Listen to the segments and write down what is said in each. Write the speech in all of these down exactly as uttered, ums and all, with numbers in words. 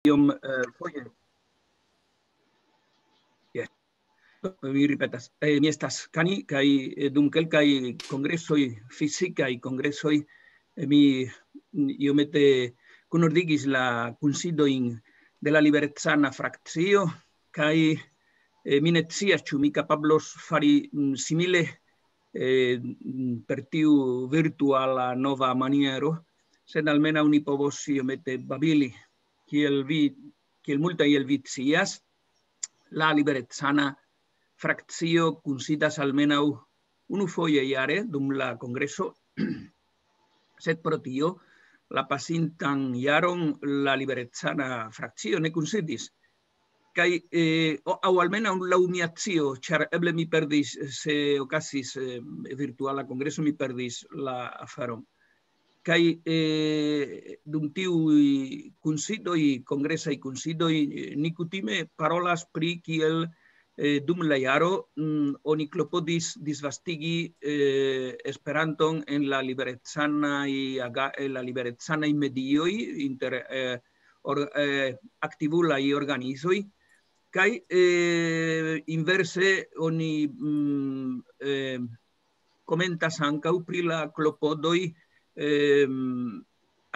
iom, eh, foje. Yes. Mi ripetas, eh, mi estas Kani, kaj, eh, dum kelkaj kongresoj, fizikaj kongresoj, eh, mi iomete kunordigis la kunsidojn de la liberecana frakcio, kaj, eh, mi ne scias, ĉu mi kapablos fari, mm, simile, eh, mm, per tiu virtuala nova maniero, sed almenaŭ ni povos iomete babili, kiel vi, kiel multaj el vi scias, la liberecana frakcio kunsidas almenaŭ unufoje jare dum la kongreso, sed pro tio la pasintan jaron la liberecana frakcio ne kunsidis. Kaj, eh, o-, aŭ almenaŭ laŭ mia scio, ĉar eble mi perdis, se okazis, eh, virtuala kongreso, mi perdis la aferon. Kaj, eh, dum tiuj kunsidoj, kongresaj kunsidoj, eh, ni kutime parolas pri kiel, eh, dum la jaro, mm, oni klopodis disvastigi, eh, Esperanton en la liberecanaj aga-, en la liberecanaj medioj inter, eh, or-, eh, aktivulaj organizoj. Kaj, eh, inverse oni, mm, eh, komentas ankaŭ pri la klopodoj, ehm,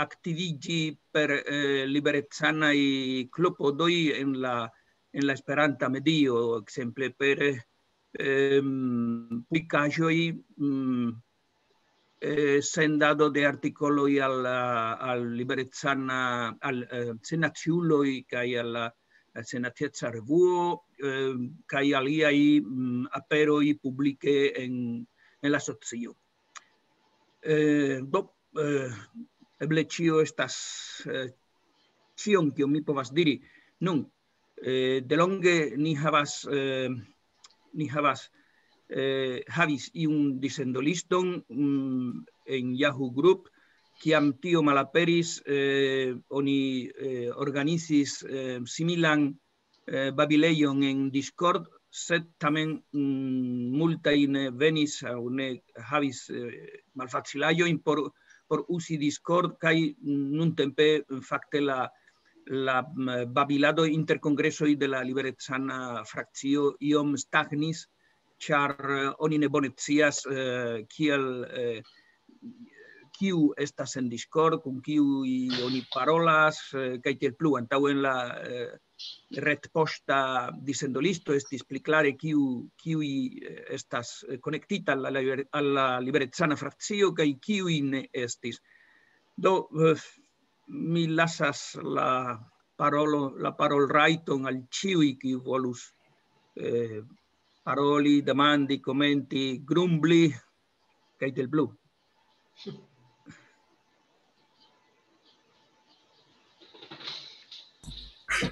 aktiviĝi per, eh, liberecanaj klopodoj en la, en la esperanta medio, ekzemple per, ehm, publikaĵoj, mm, eh, sendado de artikoloj al, al liberecana, al, eh, senaciuloj kaj al la, al senateca revuo, eh, kaj aliaj, mm, aperoj publike en, en la socio. Eh, do, eh, eble ĉio estas, eh, ĉion, kion mi povas diri. Nun, eh, delonge ni havas, eh, ni havas, eh, havis iun disendoliston, mm, en Yahoo Group. Kiam tio malaperis, eh, oni, eh, organizis, eh, similan, eh, babilejon en Discord, sed tamen, mm, multaj ne venis aŭ ne havis, eh, malfacilaĵojn por, por uzi Discord, kaj nuntempe fakte la, la, mm, babilado inter kongresoj de la liberecana frakcio iom stagnis, ĉar, eh, oni ne bone scias, eh, kiel, eh, kiu estas en Discord, kun kiuj oni parolas, eh, kaj tiel plu. Antaŭe en la, eh, retpoŝta disendolisto estis pli klare kiu, kiuj, eh, estas, eh, konektita al la liber-, al la liberecana frakcio kaj kiuj ne estis. Do, eh, mi lasas la parolo-, la parolrajton al ĉiuj, kiu volus, eh, paroli, demandi, komenti, grumbli, kaj tiel plu.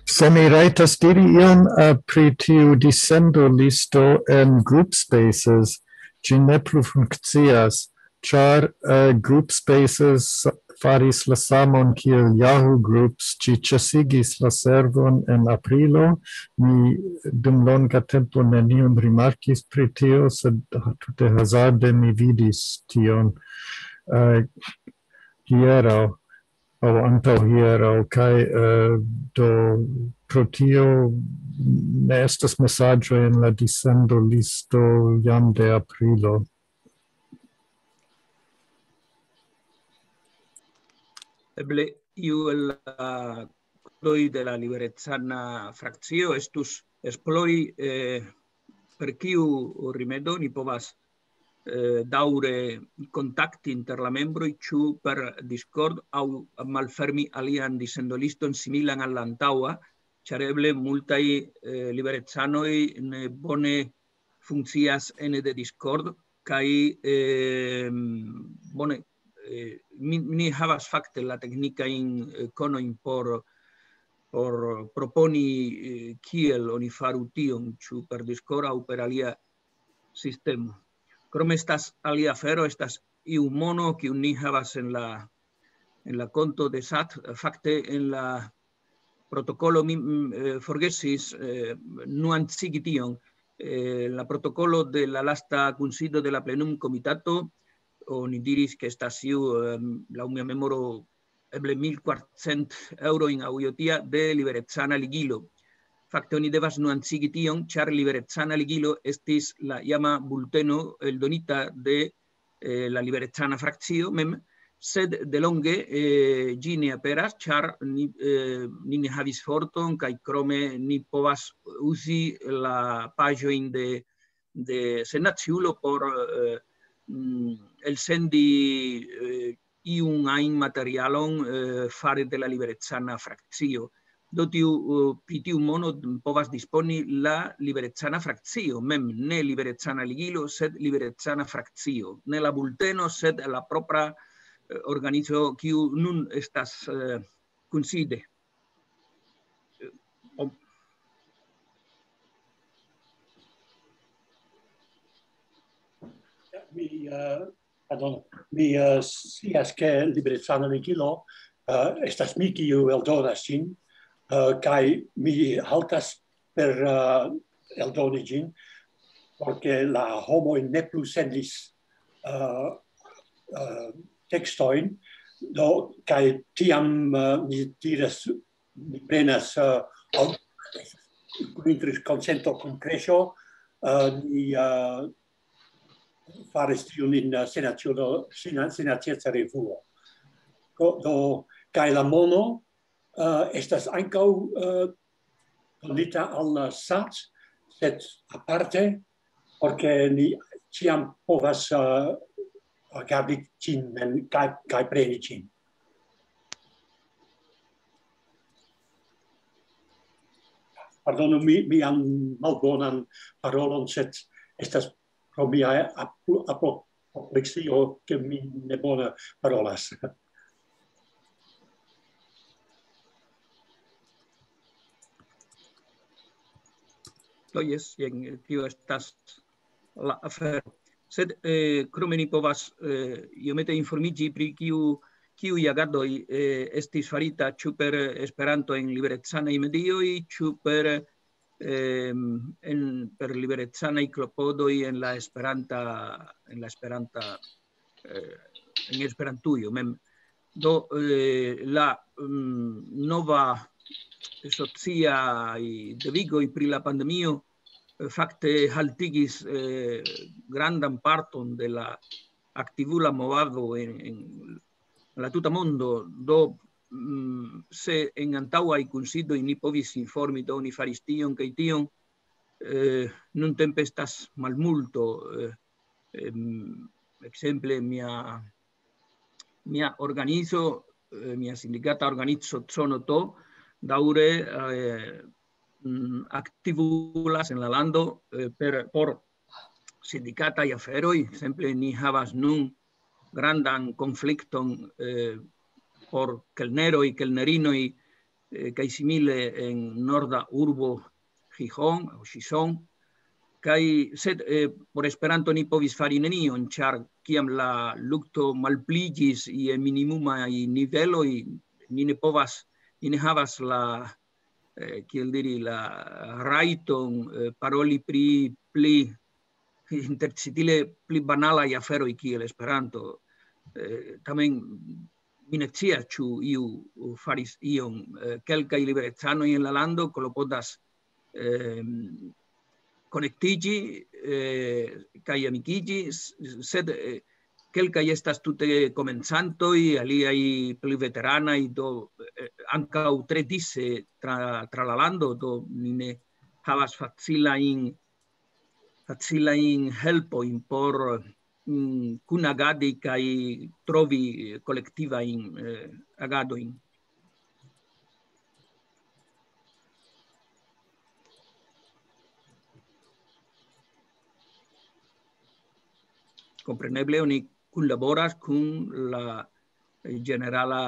Se mi rajtas diri ion, eh, pri tiu disendo listo en Group Spaces, ĝi ne plu funkcias, ĉar, eh, Group Spaces faris la samon kiel Yahoo Groups, ĝi ĉesigis la servon en aprilo. Mi dum longa tempo nenion rimarkis pri tio, sed tute hazarde mi vidis tion, eh, hieraŭ aŭ antaŭhieraŭ, kaj, eh, do pro tio ne estas mesaĝoj en la disendo listo jam de aprilo. Eble iu el la kudoj de la liberecana frakcio estus esplori, eh, per kiu rimedo ni povas, eh, daŭre kontakti inter la membroj, ĉu per Discord aŭ malfermi alian disendoliston similan al la antaŭa, ĉar eble multaj, eh, liberecanoj ne bone funkcias ene de Discord, kaj, eh, bone, eh, mi, ni havas fakte la teknikajn, eh, konojn por, por proponi, eh, kiel oni faru tion, ĉu per Discord aŭ per alia sistemo. Krome estas alia afero, estas iu mono, kiun ni havas en la, en la konto de sat, fakte en la protokolo mi, mm, eh, forgesis, eh, nuancigi tion. Eh, la protokolo de la lasta kunsido de la plenum komitato, oni diris ke estas iu, em, laŭ mia memoro, eble mil kvarcent eŭrojn aŭ io tia de liberecana ligilo. Fakte oni devas nuancigi tion, ĉar liberecana ligilo estis la iama bulteno eldonita de eh, la liberecana frakcio mem, sed delonge eh, ĝi ne aperas, ĉar ni, eh, ni ne havis forton, kaj krome ni povas uzi la paĝojn de, de Senaciulo por eh, mm, elsendi eh, iun ajn materialon eh, fare de la liberecana frakcio. Do tiu, eh, pri tiu mono povas disponi la liberecana frakcio mem, ne liberecana ligilo, sed liberecana frakcio, ne la bulteno, sed la propra eh, organizo, kiu nun estas eh, kunside. Eh, o- Mi, eh, pardon, mi eh, scias, ke liberecana ligilo eh, estas mi, kiu eldonas ĝin, eh, kaj mi haltas per eh, eldoni ĝin, porque la homoj ne plu sendis eh, eh, tekstojn, do, kaj tiam eh, mi diras, mi prenas eh, al- kun interes konsento kun kreŝo, eh, ni eh, faris tiun in eh, senacio, sena-, senacieca revuo. Do, do, kaj la mono eh, estas ankaŭ eh, donita al la sat, sed aparte, porque ni ĉiam povas eh, gardi ĝin mem kaj, kaj preni ĝin. Pardonu mi, mian malbonan parolon, sed estas pro mia apopleksio, ke mi ne bone parolas. Do jes, jen, tio estas la afero. Sed eh, krome ni povas eh, iomete informiĝi pri kiu kiuj agadoj eh, estis farita, ĉu per Esperanto en liberecanaj medioj, ĉu per, eh, en, per liberecanaj klopodoj en la Esperanta, en la Esperanta, eh, en Esperantujo mem. Do eh, la mm, nova sociaj devigoj pri la pandemio eh, fakte haltigis eh, grandan parton de la aktivula movado en, en la tuta mondo. Do mm, se en antaŭaj kunsidoj ni povis informi, do ni faris tion kaj tion, eh, nuntempe estas malmulto. Eh, em, ekzemple, mia, mia organizo, eh, mia sindikata organizo Conoto, daŭre eh, mm, aktivulas en la lando eh, per, por sindikataj aferoj. Ekzemple, ni havas nun grandan konflikton eh, por kelneroj, kelnerinoj eh, kaj simile en norda urbo Gijón aŭ Gijón. Kaj sed eh, por Esperanto ni povis fari nenion, ĉar kiam la lukto malpliĝis je minimumaj niveloj, ni ne povas, ni ne havas la, eh, kiel diri, la rajton eh, paroli pri pli intercitile pli banalaj aferoj kiel Esperanto. Eh, tamen mi ne scias, ĉu iu faris ion. Eh, kelkaj liberecanoj en la lando klopodas eh, konektiĝi eh, kaj amikiĝi, s- sed eh, kelkaj estas tute komencantoj, aliaj pli veteranaj, do eh, ankaŭ tre dise tra, tra la lando, do ni ne havas facilajn, facilajn helpojn por mm, kunagadi kaj trovi kolektivajn eh, agadojn. Kompreneble oni kunlaboras kun la ĝenerala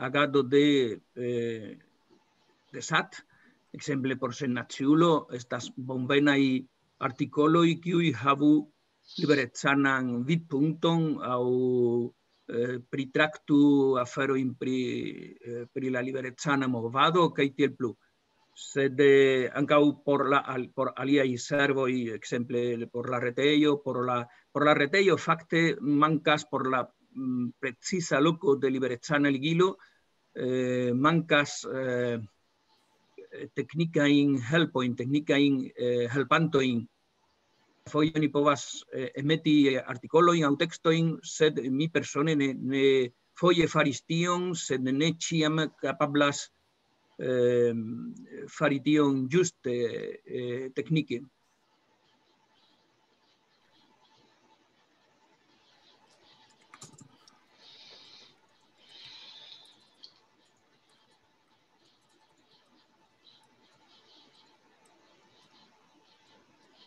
agado de, eh, de sat. Ekzemple, por Sennaciulo estas bonvenaj artikoloj, kiuj havu liberecanan vidpunkton aŭ eh, pritraktu aferojn pri, eh, pri la liberecana movado kaj tiel plu. Sed eh, ankaŭ por, la, al, por aliaj servoj, ekzemple por la retejo, por la, por la retejo fakte mankas por la mm, preciza loko de liberecana ligilo, eh, mankas, eh, teknikajn helpojn, teknikajn, eh, helpantojn. Foje oni povas, eh, emeti artikolojn aŭ tekstojn, sed mi persone ne, ne foje faris tion, sed ne ĉiam kapablas, eh, fari tion ĝuste, eh, teknike.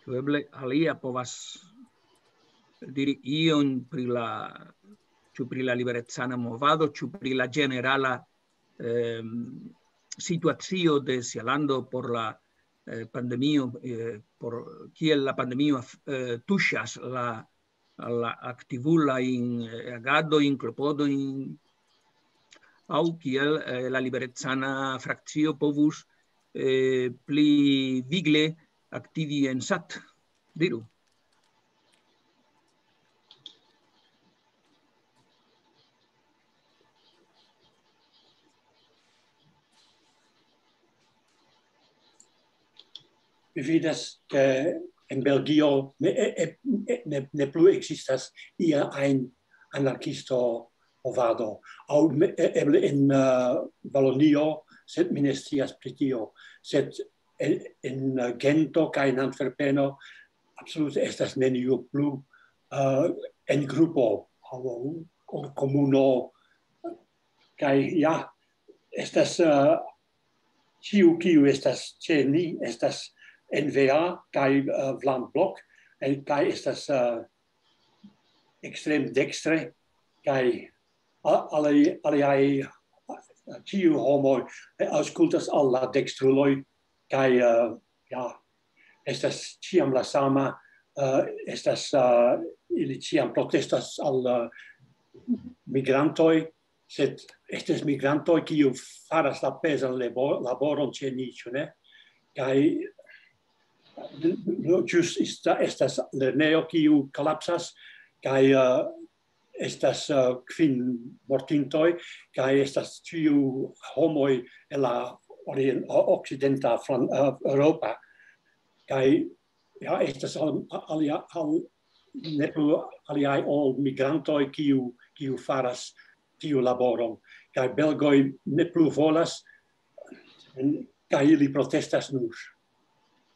Ĉu eble alia povas diri ion pri la, ĉu pri la liberecana movado, ĉu pri la ĝenerala, ehm, situacio de sia lando por la, eh, pandemio, eh, por kiel la pandemio af-, eh, tuŝas la, la aktivulajn, eh, agadojn, klopodojn, aŭ kiel, eh, la liberecana frakcio povus, eh, pli vigle aktivi en sat. Diru. Mi vidas, ke en Belgio ne, e, e, e, ne, ne plu ekzistas ia ajn anarkisto movado. Aŭ me, e, eble en, eh, Valonio, sed mi ne scias pri tio. Sed en, en, eh, Gento kaj en Antwerpeno absolute estas neniu plu, eh, en grupo aŭ, aŭ komuno. Kaj ja, estas, eh, ĉiu kiu estas ĉe ni, estas N V A kaj, eh, Vlaam Blok, en, kaj estas, eh, ekstrem dekstre, kaj a-, aliaj, aliaj, eh, ĉiu homoj, eh, aŭskultas al la dekstruloj, kaj, eh, ja, estas ĉiam la sama, eh, estas, eh, ili ĉiam protestas al, eh, migrantoj, sed estas migrantoj, kiu faras la pezan labo-, laboron ĉe ni, ĉu ne? Kaj no, ĵus esta-, estas lernejo, kiu kolapsas, kaj, eh, estas, eh, kvin mortintoj, kaj estas ĉiu homoj el la orien-, o-, okcidenta flan-, eh, Eŭropa. Kaj ja, estas al-, alia-, al-, ne plu aliaj ol migrantoj, kiu, kiu faras tiu laboron. Kaj belgoj ne plu volas, en, kaj ili protestas nur.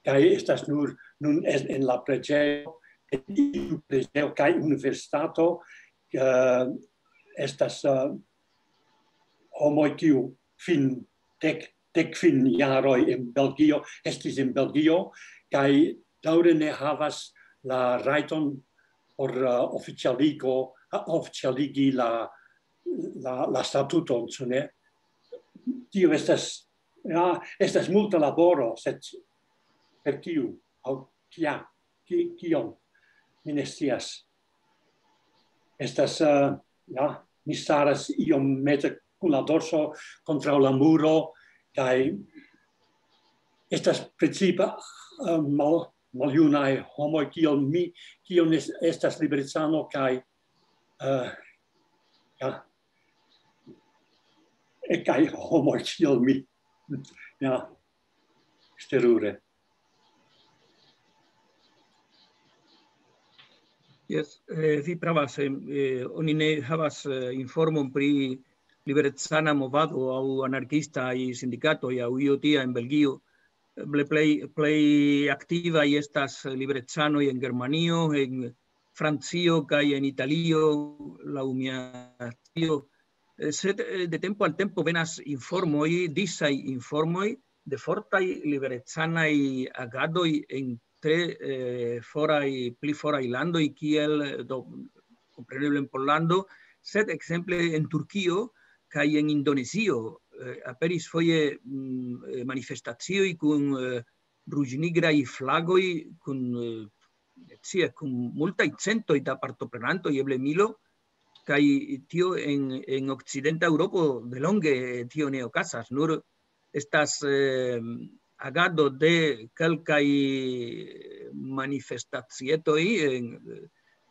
Kaj estas nur nun en, en la preĝejo, en iu preĝejo kaj universitato, eh, estas, eh, homoj, kiu fin dek, dek kvin jaroj en Belgio, estis en Belgio, kaj daŭre ne havas la rajton por, eh, oficialigo, eh, oficialigi la, la, la statuton, ĉu ne? Tio estas, ja, estas multa laboro, sed per kiu, aŭ kia, ki-, kion, mi ne scias. Estas, eh, ja, mi staras iomete kun la dorso kontraŭ la muro, kaj estas precipe, eh, mal-, maljunaj homoj kiel mi, kiu ne es-, estas liberecano, kaj, eh, ja, e, kaj homoj kiel mi. Ja, terure. Jes, eh, vi pravas, eh, eh, oni ne havas, eh, informon pri liberecana movado aŭ anarkistaj sindikatoj aŭ io tia en Belgio. Eble plej, plej aktivaj estas liberecanoj en Germanio, en Francio kaj en Italio, laŭ mia scio. Eh, sed, eh, de tempo al tempo venas informoj, disaj informoj de fortaj liberecanaj agadoj en tre, eh, foraj, pli foraj landoj, kiel, eh, do, kompreneble en Pollando, sed ekzemple en Turkio kaj en Indonezio, eh, aperis foje, mm, eh, manifestacioj kun, eh, ruĝnigraj flagoj, kun, eh, sia, kun multaj centoj da partoprenantoj, eble milo, kaj tio en, en okcidenta Eŭropo delonge tio ne okazas, nur estas, eh, agado de kelkaj manifestacietoj en,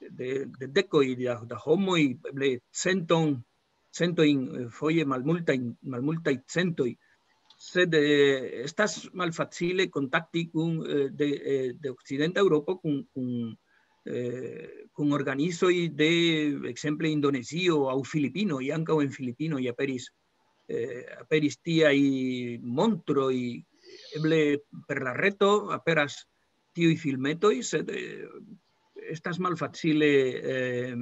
de, de dekoj da, da homoj, eble centon, centojn, eh, foje malmultajn, malmultaj centoj, sed, eh, estas malfacile kontakti kun, eh, de, eh, de Okcidenta Eŭropo kun, kun, eh, kun organizoj de, ekzemple, Indonezio aŭ Filipinoj, ankaŭ en Filipinoj aperis, eh, aperis tiaj montroj, eble per la reto aperas tiuj filmetoj, sed, eh, estas malfacile, eh,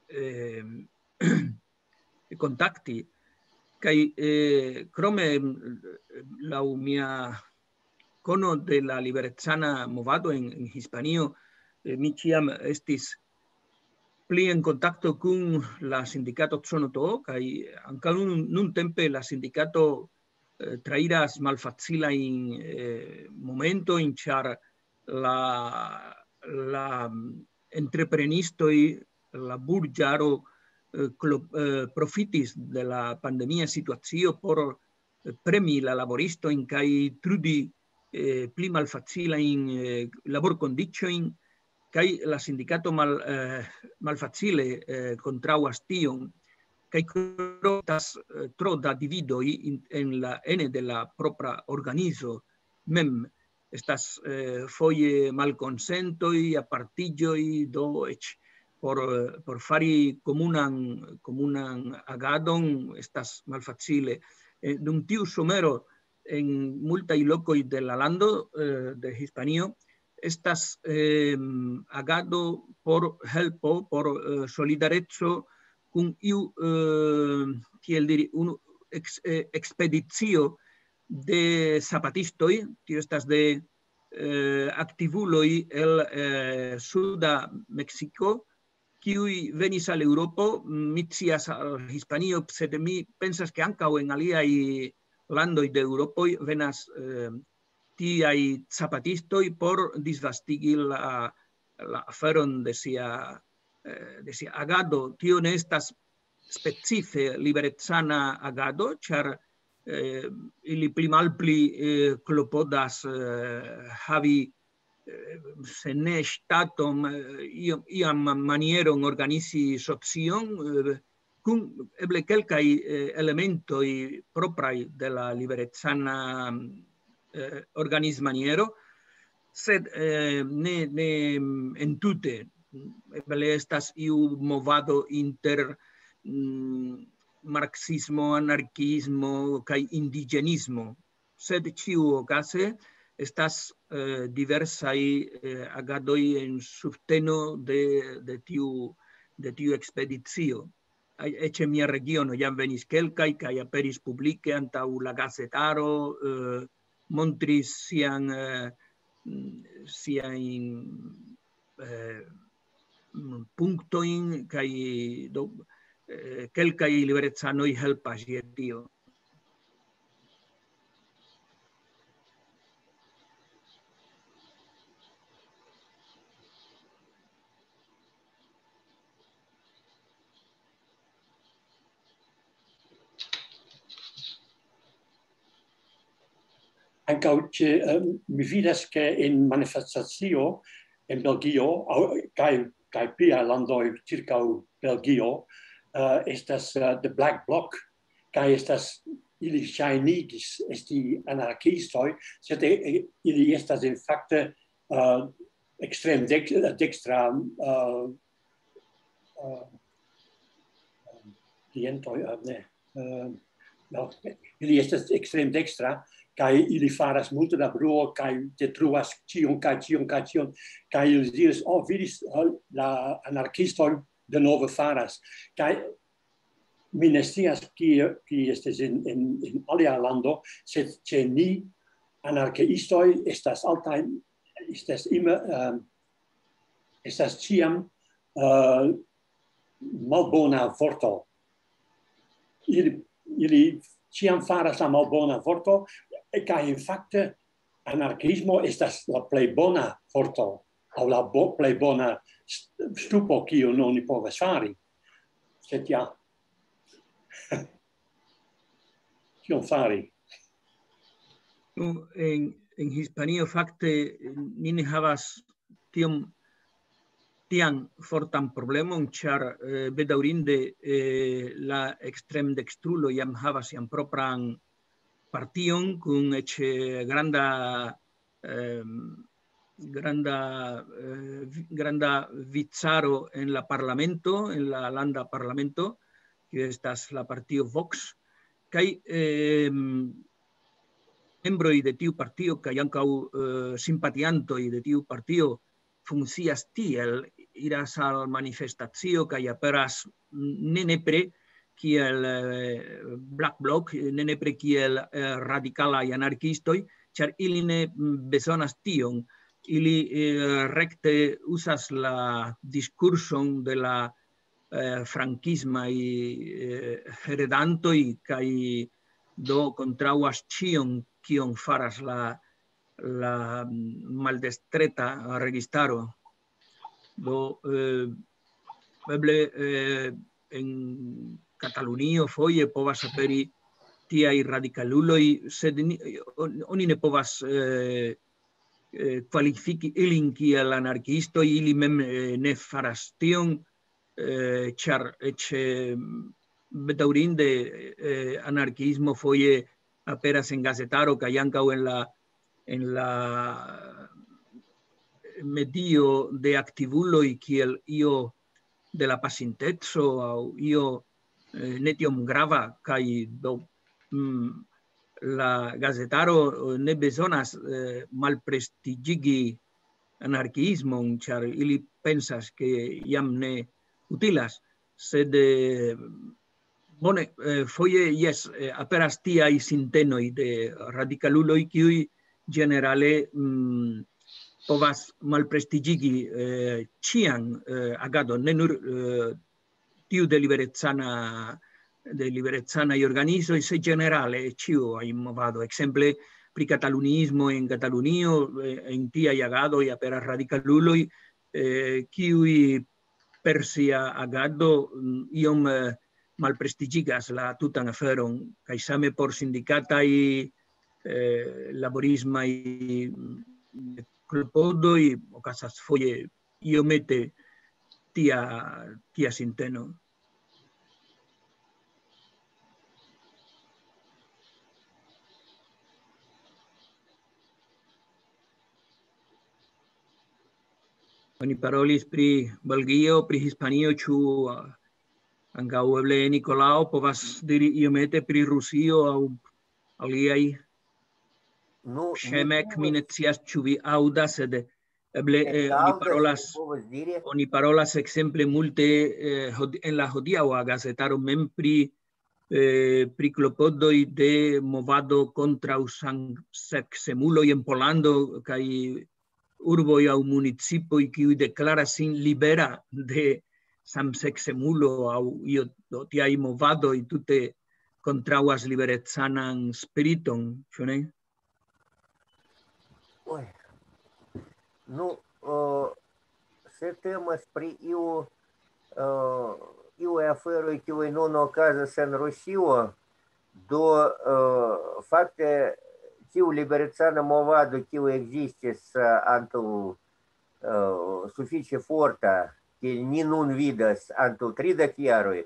eh, kontakti. Kaj, eh, krome, laŭ mia kono de la liberecana movado en, en Hispanio, eh, mi ĉiam estis pli en kontakto kun la sindikato Tsonoto, kaj ankaŭ nun, nuntempe la sindikato, eh, trairas malfacilajn, eh, momentojn, ĉar la, la entreprenistoj, la burĝaro, eh, klo-, eh, profitis de la pandemia situacio por, eh, premi la laboristojn kaj trudi, eh, pli malfacilajn, eh, laborkondiĉojn, kaj la sindikato mal-, eh, malfacile, eh, kontraŭas tion, kaj krotas, eh, tro da dividoj in, en la, ene de la propra organizo mem. Estas, eh, foje malkonsentoj, apartiĝoj, do eĉ por, eh, por fari komunan, komunan agadon estas malfacile. Eh, dum tiu somero en multaj lokoj de la lando, eh, de Hispanio, estas, em, agado por helpo, por, eh, solidareco kun iu, eh, kiel diri, unu eks-, eh, ekspedicio de zapatistoj, tio estas de, eh, aktivuloj el, eh, suda Meksiko, kiuj venis al Eŭropo. Mi scias al Hispanio, sed mi pensas, ke ankaŭ en aliaj landoj de Eŭropoj venas, eh, tiaj zapatistoj por disvastigi la, la aferon de sia, eh, de sia agado. Tio ne estas specife liberecana agado, ĉar, eh, ili pli malpli, eh, klopodas, eh, havi, eh, se ne ŝtaton, eh, iom, iam manieron organizi socion, eh, kun eble kelkaj, eh, elementoj propraj de la liberecana, eh, organizmaniero, sed, eh, ne, ne, mm, entute. Eble estas iu movado inter, mm, marksismo, anarkiismo kaj indiĝenismo. Sed ĉiuokaze estas, eh, diversaj, eh, agadoj en subteno de, de tiu, de tiu ekspedicio. Aj-, eĉ en mia regiono jam venis kelkaj, kaj aperis publike antaŭ la gazetaro, eh, montris sian, eh, mm, siajn, eh, mm, punktojn, kaj do, eh, kelkaj liberecanoj helpas je tio. Ankaŭ ĉe, eh, mi vidas, ke en manifestacio en Belgio, aŭ, kaj, kaj pliaj landoj ĉirkaŭ Belgio, eh, estas, eh, The Black Bloc, kaj estas, ili ŝajnigis esti anarkiistoj, sed, eh, eh, ili estas en fakte, eh, ekstrem dek-, dekstra, eh, eh, klientoj, eh, ne, eh, no, ili estas ekstrem dekstra, kaj ili faras multe da bruo, kaj detruas ĉion, kaj ĉion, kaj ĉion, kaj ili diris: "Oh, vidis, oh, la anarkistoj denove faras." Kaj mi ne scias, kie, kie estas en, en, en alia lando, sed ĉe ni anarkiistoj estas altaj, estas ima-, eh, estas ĉiam, eh, malbona vorto. Ili, ili ĉiam faras la malbona vorto, kaj in fakte anarkiismo estas la plej bona vorto, aŭ la bo-, plej bona st-, stupo, kiun oni povas fari. Sed ja. Kion fari? Nu, en, en Hispanio fakte ni ne havas tiom tian fortan problemon, ĉar, eh, bedaŭrinde, eh, la ekstremdekstrulo jam havas sian propran partion kun eĉ, eh, granda, em, granda, eh, vi-, granda vicaro en la parlamento, en la landa parlamento, kiu estas la partio Vox, kaj, em, membroj de tiu partio kaj ankaŭ, eh, simpatiantoj de tiu partio funkcias tiel, iras al manifestacio kaj aperas ne nepre kiel, eh, Black Bloc, ne nepre kiel, eh, radikalaj anarkiistoj, ĉar ili ne, mm, bezonas tion. Ili, eh, rekte uzas la diskurson de la, eh, frankismaj, eh, heredantoj kaj do kontraŭas ĉion, kion faras la, la, mm, maldestreta registaro. Do, eh, eble, eh, en Katalunio foje povas aperi tiaj radikaluloj, sed ni-, on-, oni ne povas, eh, eh, kvalifiki ilin kiel anarkiistoj, ili mem, eh, ne faras tion, eh, ĉar eĉ, eh, bedaŭrinde, eh, anarkiismo foje aperas en gazetaro kaj ankaŭ en la, en la medio de aktivuloj kiel io de la pasinteco aŭ io, eh, ne tiom grava, kaj do, mm, la gazetaro, eh, ne bezonas, eh, malprestiĝigi anarkiismon, ĉar ili pensas, ke jam ne utilas. Sed, eh, bone, eh, foje, jes, eh, aperas tiaj sintenoj de radikaluloj, kiuj ĝenerale, mm, povas malprestiĝigi, eh, ĉian, eh, agadon, ne nur, eh, tiu de liberecana, de liberecanaj organizoj, sed ĝenerale ĉiuj movado. Ekzemple, pri kataluniismo en Katalunio, eh, en tiaj agadoj aperas radikaluloj, eh, kiuj per sia agado, mm, iom, eh, malprestiĝigas la tutan aferon, kaj same por sindikataj, eh, laborismaj, mm, klopodoj okazas foje iomete tia, tia sinteno. Oni parolis pri Belgio, pri Hispanio, ĉu, ah, ankaŭ eble Nikolao povas diri iomete pri Rusio aŭ aliaj? Nu, Ŝemek, mi ne scias, ĉu vi aŭdas, sed eble, eh, oni aŭdas, parolas, mi povas diri. Oni parolas ekzemple multe, eh, hod-, en la hodiaŭa gazetaro mem pri, eh, pri klopodoj de movado kontraŭ samseksemuloj en Pollando kaj urboj aŭ municipoj, kiuj deklaras sin libera de samseksemulo aŭ io, do tiaj movadoj tute kontraŭas liberecanan spiriton, ĉu ne? Oi. Nu, eh, se temas pri iu, eh, iu aferoj, kiuj nun okazas en Rusio, do, eh, fakte tiu liberecana movado, kiu ekzistis, eh, antaŭ, eh, sufiĉe forta, kiel ni nun vidas, antaŭ tridek jaroj,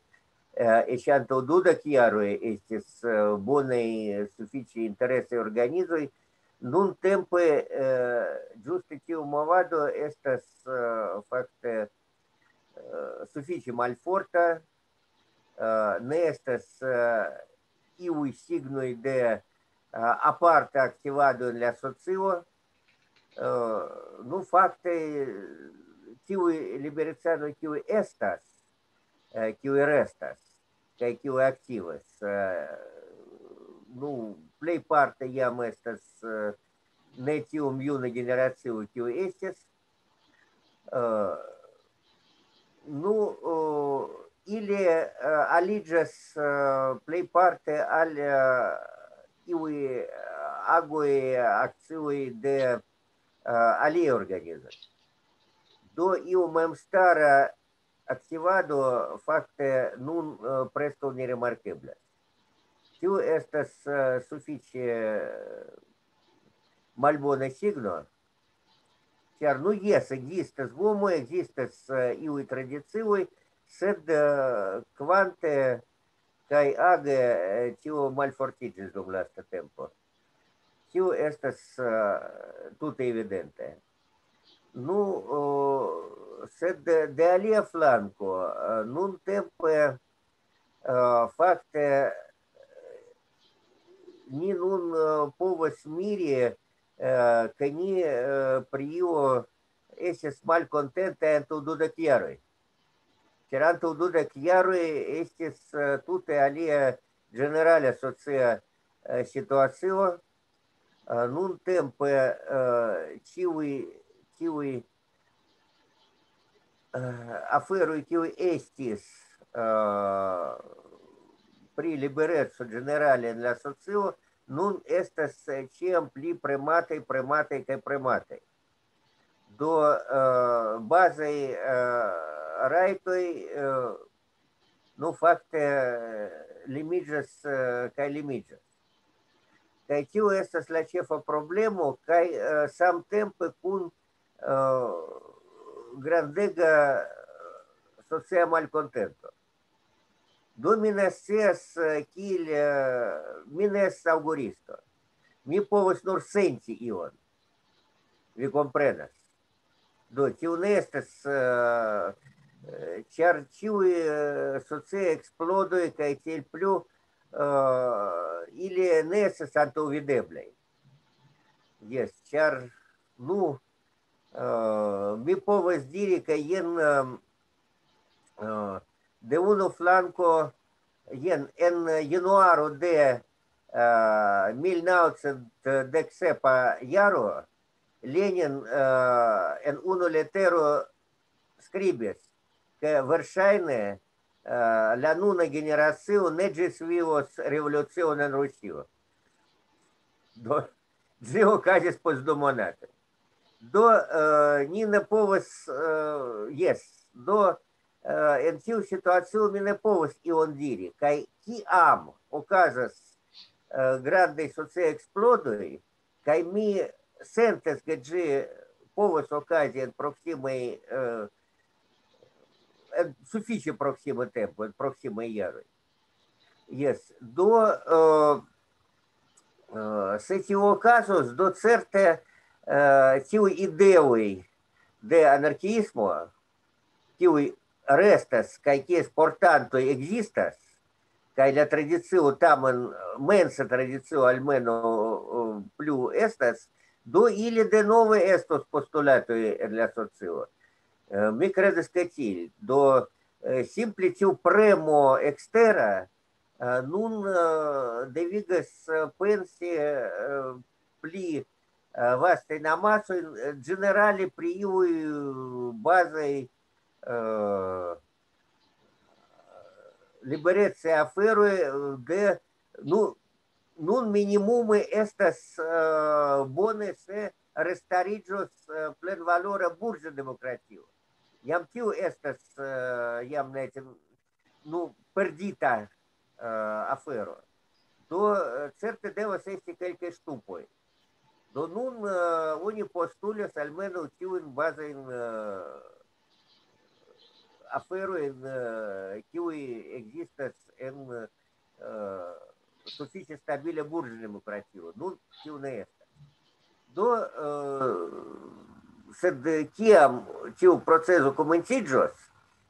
eh, eĉ antaŭ dudek jaroj estis, eh, bonaj, sufiĉe interesaj organizoj. Nuntempe, eh, ĝuste tiu movado estas, eh, fakte, eh, sufiĉe malforta, eh, ne estas, eh, iuj signoj de, eh, aparta aktivado en la socio. Eh, nu, fakte, tiuj liberecanoj, kiuj estas, eh, kiuj restas, kaj kiuj aktivas, eh, nu, plejparte jam estas, eh, ne tiom juna generacio, kiu estis. Eh, nu, eh, ili, eh, aliĝas, eh, plejparte al, eh, iuj, eh, agoj, akcioj de, eh, aliaj organizoj. Do iu memstara aktivado fakte nun, eh, preskaŭ nerimarkeblas. Tio estas, eh, sufiĉe malbona signo. Ĉar, nu, jes, ekzistas gomoj, ekzistas, eh, iuj tradicioj, sed, eh, kvante kaj age, eh, tio malfortiĝis dum lasta tempo. Tio estas, eh, tute evidente. Nu, o, sed de, de alia flanko, eh, nuntempe, eh, fakte, ni nun, eh, povas miri, eh, ke ni, eh, pri io estis malkontenta antaŭ dudek jaroj. Ĉar antaŭ dudek jaroj estis, eh, tute alia ĝenerala socia, eh, situacio. Eh, nuntempe, eh, ĉiuj, ĉiuj, eh, aferoj, kiuj estis, eh, pri libereco ĝenerale en la socio, nun estas, eh, ĉiam pli premataj, premataj kaj premataj. Do, eh, bazaj, eh, rajtoj, eh, nu, fakte, eh, limiĝas, eh, kaj limiĝas. Kaj tio estas la ĉefa problemo, kaj, eh, samtempe kun, eh, grandega socia malkontento. Do mi ne scias, eh, kiel, eh, mi ne estas aŭguristo. Mi povas nur senti ion. Vi komprenas? Do, tio ne estas, eh, eh, ĉar ĉiuj, eh, sociaj eksplodoj kaj tiel plu, eh, ili ne estas antaŭvideblaj. Jes, ĉar, nu, eh, mi povas diri, ke jen, eh, eh, de unu flanko, jen en januaro de, eh, mil naŭcent dek sepa jaro, Lenin, eh, en unu letero skribis, ke verŝajne, eh, la nuna generacio ne ĝisvivos revolucion en Rusio. Do, ĝi okazis post du monatoj. Do, eh, ni ne povas, eh, jes, do, eh, en tiu situacio mi ne povas ion diri, kaj kiam okazas, eh, grandaj sociaj eksplodoj, kaj mi sentas, ke ĝi povas okazi en proksimaj, eh, en sufiĉe proksima tempo, en proksimaj jaroj. Jes, do, eh, eh, se tio okazos, do certe, eh, tiuj ideoj de anarkiismo, kiuj restas kaj kies portantoj ekzistas, kaj la tradicio tamen, mensa tradicio almenaŭ, eh, plu estas, do ili denove estos postulatoj en la socio. Eh, mi kredas, ke tiel. Do, eh, simple tiu premo ekstera, eh, nun, eh, devigas, eh, pensi, eh, pli, eh, vastajn amasojn, eh, ĝenerale pri iuj bazaj, eh, liberecaj aferoj, eh, de, nu, nun minimume estas, eh, bone, se restariĝos, eh, plenvalora burĝa demokratio. Jam tio estas, eh, jam ne, nu, perdita, eh, afero. Do, eh, certe devas esti kelkaj ŝtupoj. Do nun, eh, oni postulas almenaŭ tiujn bazajn, eh, aferojn, eh, kiuj ekzistas en, eh, sufiĉe stabila burĝa demokratio. Nun tiu ne estas. Do, eh, sed kiam tiu proceso komenciĝos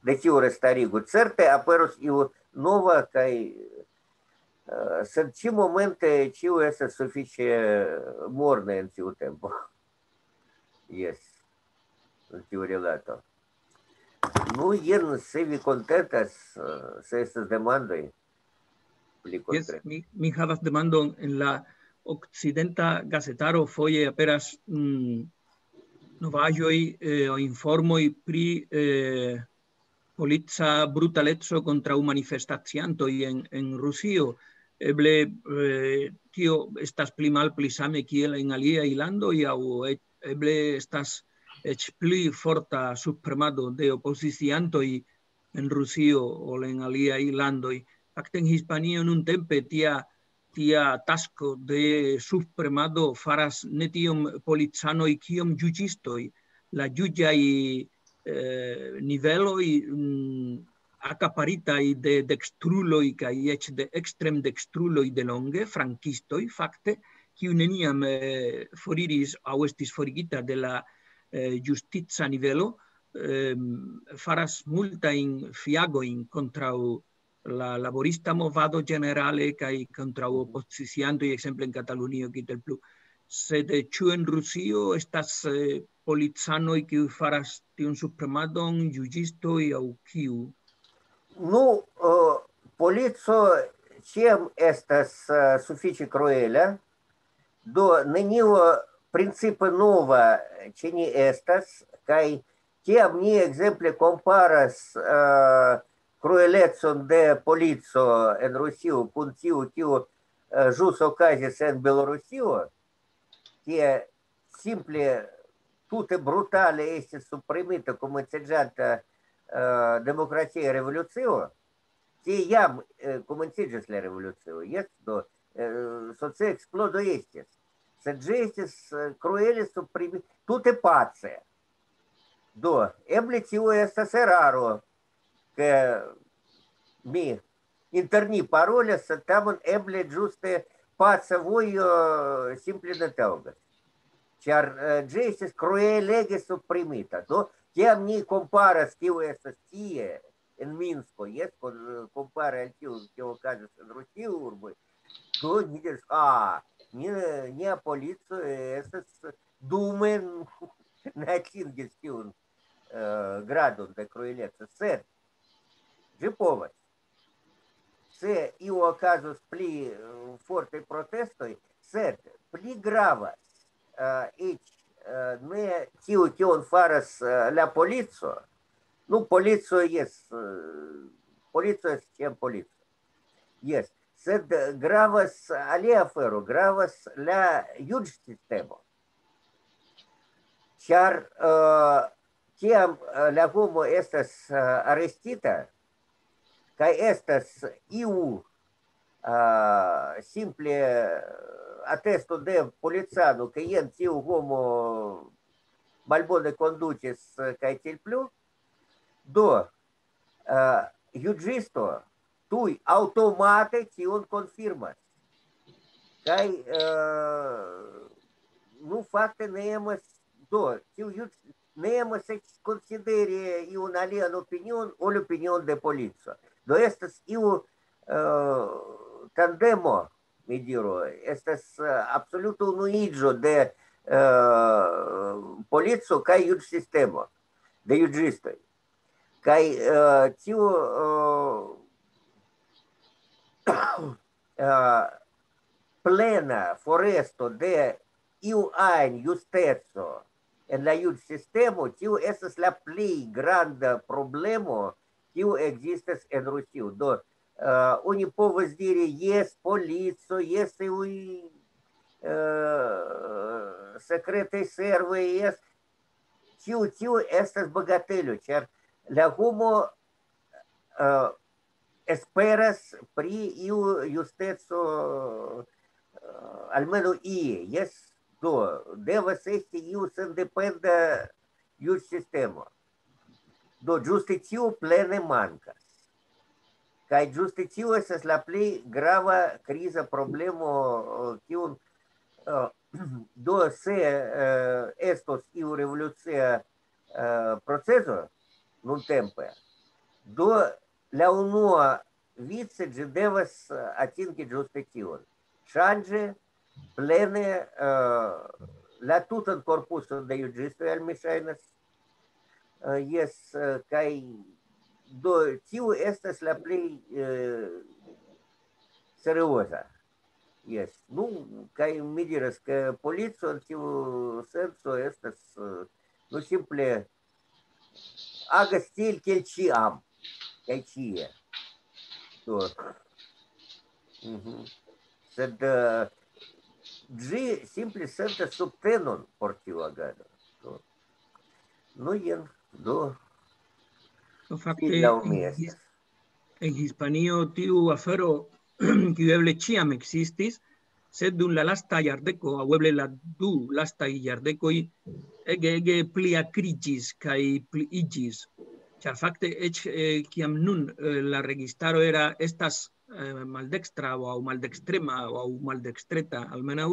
de tiu restarigo, certe aperos iu nova kaj, eh, sed ĉi momente ĉiu estas sufiĉe morna en tiu tempo. Jes, en tiu rilato. Nu, jen, se vi kontentas, eh, se estas demandoj, pli Jes, kontre. Mi, mi havas demandon. En la okcidenta gazetaro foje aperas, mm, novaĵoj, eh, o informoj pri, eh, polica brutaleco kontraŭ manifestaciantoj en, en Rusio. Eble, eh, tio estas pli malpli same kiel en aliaj landoj, aŭ e-, eble estas eĉ pli forta subpremado de opoziciantoj en Rusio ol en aliaj landoj. Fakte en Hispanio nuntempe tia, tia tasko de subpremado faras ne tiom policanoj kiom juĝistoj. la juĝaj, eh, niveloj, mm, akaparitaj de dekstruloj kaj eĉ de ekstremdekstruloj de longe, frankistoj, fakte, kiu neniam, eh, foriris aŭ estis forigita de la, eh, ĝustica nivelo, ehm, faras multajn fiagojn kontraŭ la laborista movado ĝenerale kaj kontraŭ opoziciantoj, ekzemple en Katalunio, kiel plu. Sed, eh, ĉu en Rusio estas, eh, policanoj, kiu faras tiun supremadon, juĝistoj aŭ kiu? Nu, eh, polico ĉiam estas, eh, sufiĉe kruela, do nenio principe nova ĉe ni estas, kaj kiam ni ekzemple komparas, eh, kruelecon de polico en Rusio kun tiu, kiu, eh, ĵus okazis en Belorusio, kie simple tute brutale estis suprimita komenciĝanta, eh, demokratia revolucio, tie jam, eh, komenciĝis la revolucio, jes, do, eh, socia eksplodo estis. Sed ĝi estis, eh, kruele suprimi-, tute pace. Do, eble tio estas eraro, ke mi inter ni parolis, sed tamen eble ĝuste paca vojo simple ne taŭgas. Ĉar, eh, ĝi estis kruelege suprimita. Do, kiam ni komparas, kio estas tie, en Minsko, jes, kon-, kompare al tio, kio okazis en Rusio urboj, do ni diras, a, nia, nia polico estas dume ne atingis tiun, eh, gradon de krueleco, sed ĝi povas. Se iu okazos pli, eh, fortaj protestoj, sed pli gravas, eh, eĉ, eh, ne tio, kion faras, eh, la polico. Nu, polico, jes, eh, polico estas ĉiam polico. Jes, sed gravas alia afero, gravas la juĝsistemo. Ĉar, eh, kiam, eh, la homo estas, eh, arestita, kaj estas iu, eh, simple, eh, atesto de policano, ke jen tiu homo malbone kondutis, eh, kaj tiel plu, do, eh, juĝisto tuj aŭtomate tion konfirmas. Kaj, eh, nu, fakte ne emas, do, tiu juĝ-, ne emas eĉ konsideri iun alian opinion ol opinion de polico. Do estas iu, eh, tandemo, mi diru, estas, eh, absoluta unuiĝo de, eh, polico kaj juĝsistemo, de juĝistoj. Kaj, eh, tiu, eh, eh, plena foresto de iu ajn justeco en la juĝsistemo, tiu estas la plej granda problemo, kiu ekzistas en Rusio. Do, eh, oni povas diri, jes, polico, jes, iuj, eh, sekretaj servoj, jes. Tiu, tiu estas bagatelo, ĉar la homo, eh, esperas pri iu justeco, eh, almenaŭ ie, jes, do, devas esti iu sendependa juĝsistemo. Do, ĝuste tiu plene mankas. Kaj ĝuste tiu estas la plej grava kriza problemo, eh, kiun, eh, do, se, eh, estos iu revolucia, eh, proceso nuntempe, do, la unua vice ĝi devas, eh, atingi ĝuste tion. Ŝanĝi plene, eh, la tutan korpuson de juĝistoj, al mi ŝajnas. Eh, jes, eh, kaj do tiu estas la plej, eh, serioza. Jes, nu, kaj mi diras, ke polico en tiu senco estas, eh, nu, simple agas tiel kiel ĉiam, kaj ĉie. Do. Mhm. Sed, eh, ĝi simple sentas subtenon por tiu agado. Do. Nu, jen, do. Do, fakte, Laŭ mi en estas. His-, en Hispanio tiu afero, kiu eble ĉiam ekzistis, sed dum la lasta jardeko, aŭ eble la du lastaj jardekoj, ege, ege pliakriĝis kaj pliiĝis. Ĉar fakte eĉ, eh, kiam nun, eh, la registaro era, estas, eh, maldekstra aŭ maldekstrema aŭ maldekstreta almenaŭ,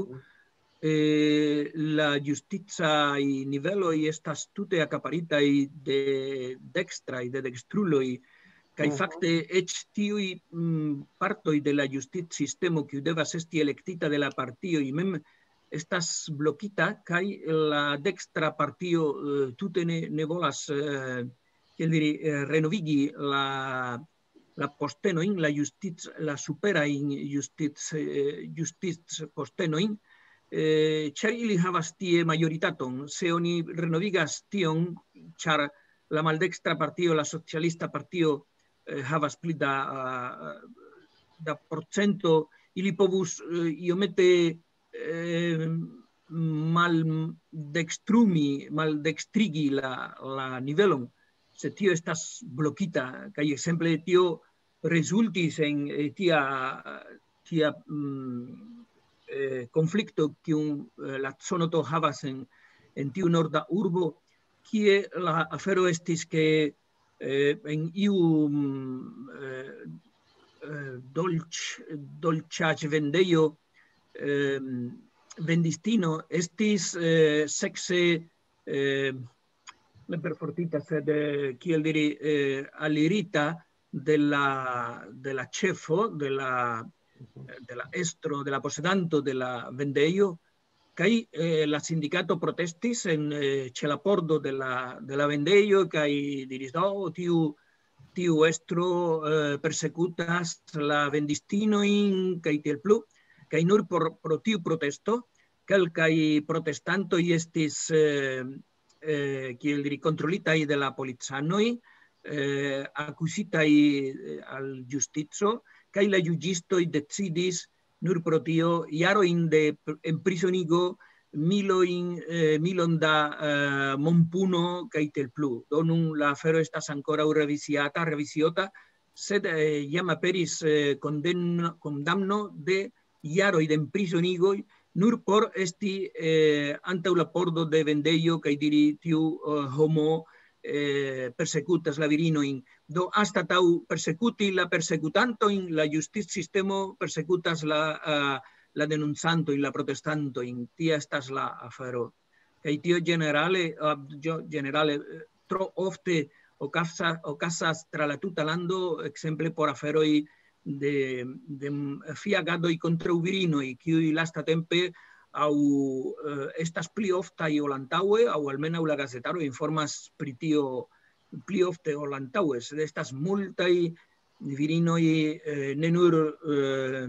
eh, la ĝusticaj niveloj estas tute akaparitaj de dekstraj, de dekstruloj, kaj Mhm. fakte eĉ tiuj, mm, partoj de la ĝustic-sistemo, kiu devas esti elektita de la partioj mem, estas blokita, kaj la dekstra partio, eh, tute ne, ne volas, eh, kiel diri, eh, renovigi la, la postenojn, la ĝustic-, la superajn ĝustic-, eh, ĝustic-postenojn, eh, ĉar ili havas tie majoritaton. Se oni renovigas tion, ĉar la maldekstra partio, la socialista partio, eh, havas pli da, ah, da procento, ili povus, eh, iomete, eh, maldekstrumi, maldekstrigi la, la nivelon, se tio estas blokita, kaj ekzemple tio rezultis en, eh, tia, tia, mm, eh, konflikto, kiun, eh, la Conoto havas en, en tiu norda urbo, kie la afero estis, ke, eh, en iu, mm, eh, eh, dolĉ-, dolĉaĵvendejo, em, vendistino estis, eh, sekse, eh, ne perfortita, sed, eh, kiel diri, eh, alirita de la, de la ĉefo, de la, Mhm. de la estro, de la posedanto de la vendejo, kaj, eh, la sindikato protestis en, eh, ĉe la pordo de la, de la vendejo, kaj diris: "Do, tiu, tiu estro, eh, persekutas la vendistinojn", kaj tiel plu. Kaj nur por, pro tiu protesto, kelkaj protestantoj estis, eh, eh, kiel diri, kontrolitaj de la policanoj, eh, akuzitaj, eh, al ĝustico, kaj la juĝistoj decidis nur pro tio jarojn de pr-, enprizonigo, milojn, eh, milon da, eh, monpuno, kaj tiel plu. Do nun la afero estas ankoraŭ revisiata, revisiota, sed, eh, jam aperis, eh, konden-, kondamno de jaroj de enprizonigoj, nur por esti, eh, antaŭ la pordo de vendejo kaj diri: "Tiu, eh, homo, eh, persekutas la virinojn." Do, anstataŭ persekuti la persekutantojn, la justic-sistemo persekutas la, eh, la denuncantojn, la protestantojn. Tia estas la afero. Kaj tio ĝenerale, eh, ĝo-, ĝenerale, eh, tro ofte okasa-, okazas tra la tuta lando, ekzemple por aferoj de, de, mm, fiagadoj kontraŭ virinoj, kiuj lastatempe aŭ, eh, estas pli oftaj ol antaŭe, aŭ almenaŭ la gazetaro informas pri tio pli ofte ol antaŭe, sed estas multaj virinoj, eh, ne nur, eh,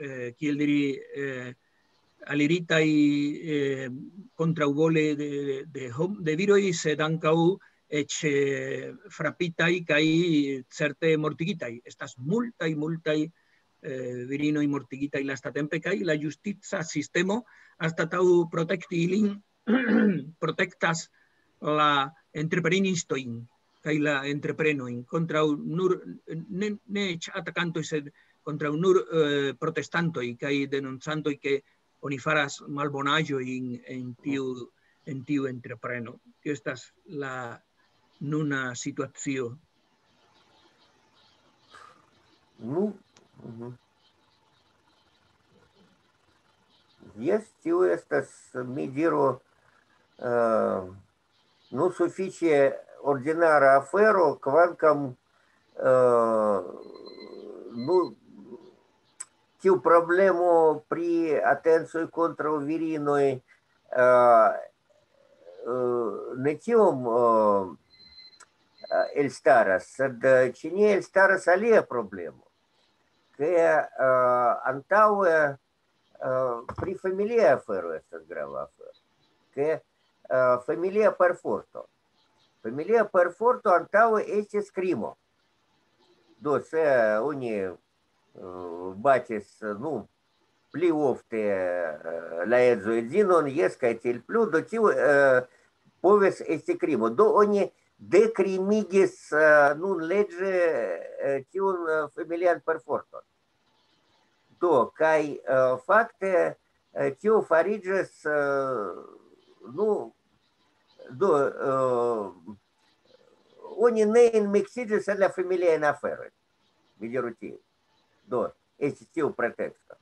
eh, kiel diri, eh, aliritaj, eh, kontraŭvole de, de, de hom-, de viroj, sed ankaŭ eĉ, eh, frapitaj kaj certe mortigitaj. Estas multaj, multaj, eh, virinoj mortigitaj lastatempe, kaj la justica sistemo, anstataŭ protekti ilin, protektas la entreprenistojn kaj la entreprenojn kontraŭ nur, ne, ne eĉ atakantoj, sed kontraŭ nur, eh, protestantoj kaj denuncantoj, ke oni faras malbonaĵojn en tiu, en tiu entrepreno. Tio estas la nuna situacio. Nu, mhm. Jes, tio estas, mi diru, eh, nu, sufiĉe ordinara afero, kvankam, eh, nu, tiu problemo pri atencoj kontraŭ virinoj, eh, eh, ne tiom, eh, elstaras, sed, eh, ĉe ni elstaras alia problemo, ke, eh, antaŭe, eh, pri familia afero estas grava afero, ke, eh, familia perforto. Familia perforto antaŭe estis krimo. Do, se oni, eh, batis, nu, pli ofte, eh, la edzo edzinon, jes, kaj tiel plu, do tiu, eh, povis esti krimo. Do oni dekrimigis, eh, nun leĝe, eh, tiun, eh, familian perforton. Do, kaj, eh, fakte, eh, tio fariĝis, eh, nu, Do, eh, oni ne enmiksiĝis en la familiajn aferojn, mi diru tiel. Do, estis tiu preteksto.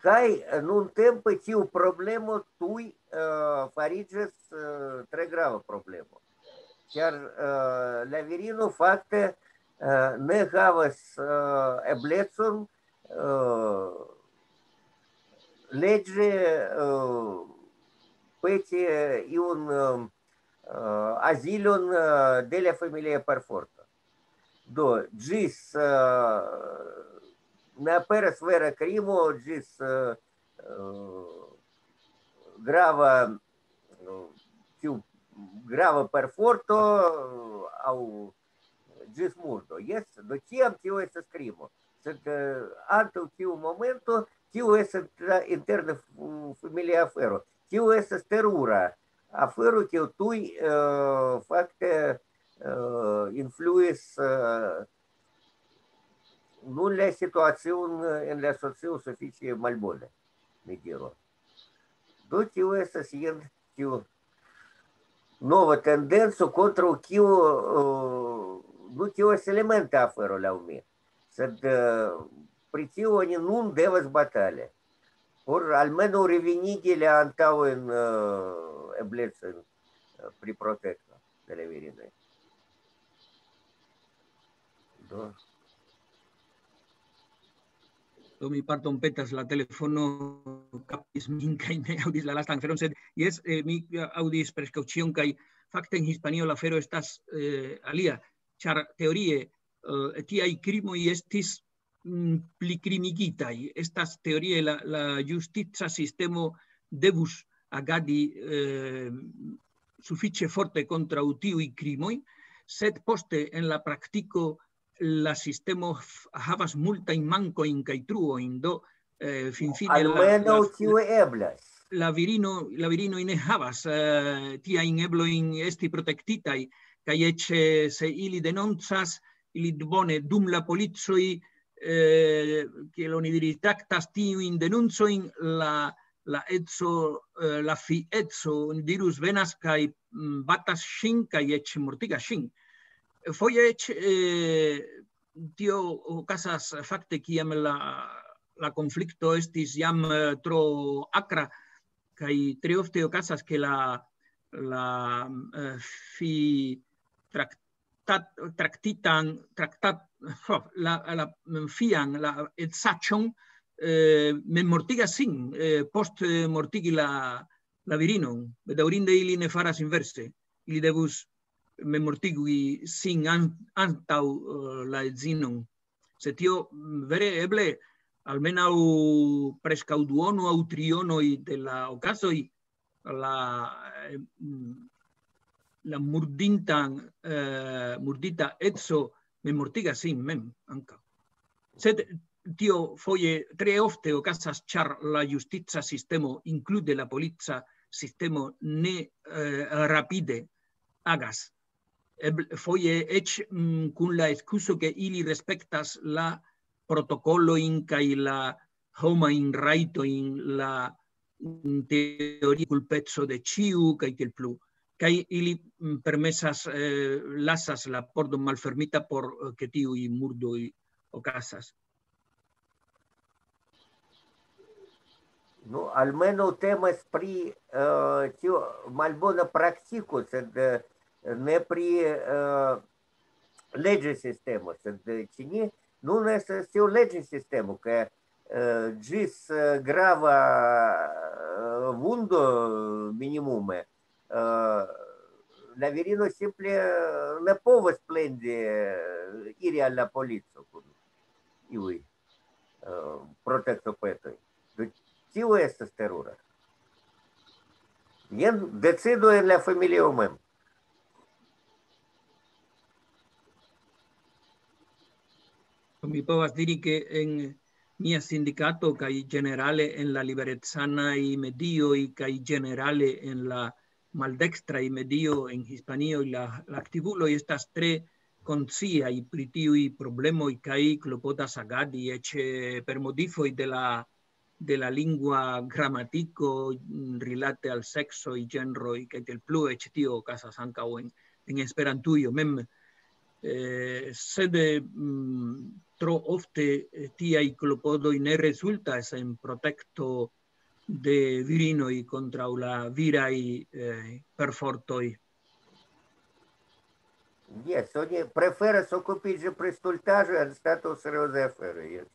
Kaj, eh, nuntempe tiu problemo tuj, eh, fariĝas, eh, tre grava problemo. Ĉar, eh, la virino fakte, eh, ne havas, eh, eblecon, eh, leĝe, eh, peti, eh, iun, eh, eh, azilon, eh, de la familia perforto. Do, ĝis, eh, ne aperas vera krimo, ĝis, eh, eh, grava, eh, tiu grava perforto, eh, aŭ ĝis murdo. Jes, do, ĉiam tio estas krimo. Sed, eh, antaŭ tiu momento, tio estas la interna f-, familia afero. Tio estas terura afero, kiu tuj, eh, fakte, eh, influis, eh, nun la situacion, eh, en la socio sufiĉe malbone, mi diru. Do, tio estas jen tiu nova tendenco, kontraŭ kiu, eh, do, tio estas elementa afero laŭ mi. Sed, eh, pri tio oni nun devas batali. Por almenaŭ revenigi la antaŭen, eh, eblecojn, eh, pri protekto de la virinoj. Do. Do, mi pardonpetas, la telefono kaptis min kaj ne aŭdis la lastan aferon, sed jes, eh, mi aŭdis preskaŭ ĉion, kaj fakte en Hispanio la afero estas, eh, alia, ĉar teorie, eh, tiaj krimoj estis, mm, plikrimigitaj. Estas teorie la, la justica sistemo devus agadi, eh, sufiĉe forte kontraŭ tiuj krimoj, sed poste en la praktiko la sistemo f-, havas multajn mankojn kaj truojn, do, eh, finfine la, Almenaŭ la, tio eblas. la virino, la virinoj ne havas, eh, tiajn eblojn esti protektitaj, kaj eĉ, eh, se ili denoncas, ili bone dum la policoj, eh, kiel oni diris, traktas tiujn denoncojn, la, la edzo, eh, la fi edzo, oni dirus, venas kaj, mm, batas ŝin kaj eĉ mortigas ŝin. Foje eĉ, eh, tio okazas fakte, kiam la, la konflikto estis jam, eh, tro akra, kaj tre ofte okazas, ke la, la, eh, fi traktat-, traktitan, traktat-, la, la, mm, fian, la edzaĉon, eh, memmortigas sin, eh, post, eh, mortigi la, la virinon. Bedaŭrinde ili ne faras inverse. Ili devus memmortigi sin an-, antaŭ, eh, la edzinon. Se tio, mm, vere eble, almenaŭ preskaŭ duono aŭ trionoj de la okazoj, la, eh, mm, la murdintan, eh, murdita edzo memmortigas sin mem ankaŭ. Sed tio foje tre ofte okazas, ĉar la justica sistemo, inklude la polica sistemo, ne, eh, rapide agas. Ebl-, foje eĉ, mm, kun la ekskuzo, ke ili respektas la protokolojn kaj la homajn rajtojn, la, mm, teoria kulpeco de ĉiu kaj tiel plu. Kaj ili, mm, permesas, eh, lasas la pordon malfermita por, eh, ke tiuj murdoj okazas. Nu, almenaŭ temas pri, eh, tio malbona praktiko, sed, eh, ne pri, eh, leĝa sistemo, sed, eh, ĉe ni nun estas tio leĝa sistemo, ke, eh, ĝis, eh, grava, eh, vundo minimume, eh, la virino simple, eh, ne povas plendi, eh, iri al la polico kun iuj, eh, protekto petoj. Do tio estas terura. Jen decido en la familio mem. Mi povas diri, ke en mia sindikato kaj ĝenerale en la liberecanaj medioj kaj ĝenerale en la maldekstraj medio en Hispanio, la, la aktivuloj estas tre konsciaj pri tiuj problemoj kaj klopodas agadi eĉ, eh, per modifoj de la, de la lingua gramatiko, mm, rilate al seksoj, ĝenroj, kaj tiel plu, eĉ tio okazas ankaŭ en, en Esperantujo mem. Eh, sed, mm, tro ofte, eh, tiaj klopodoj ne rezultas en protekto de virinoj kontraŭ la viraj, eh, perfortoj. Jes, oni preferas okupiĝi pri stultaĵoj anstataŭ seriozaj aferoj, jes.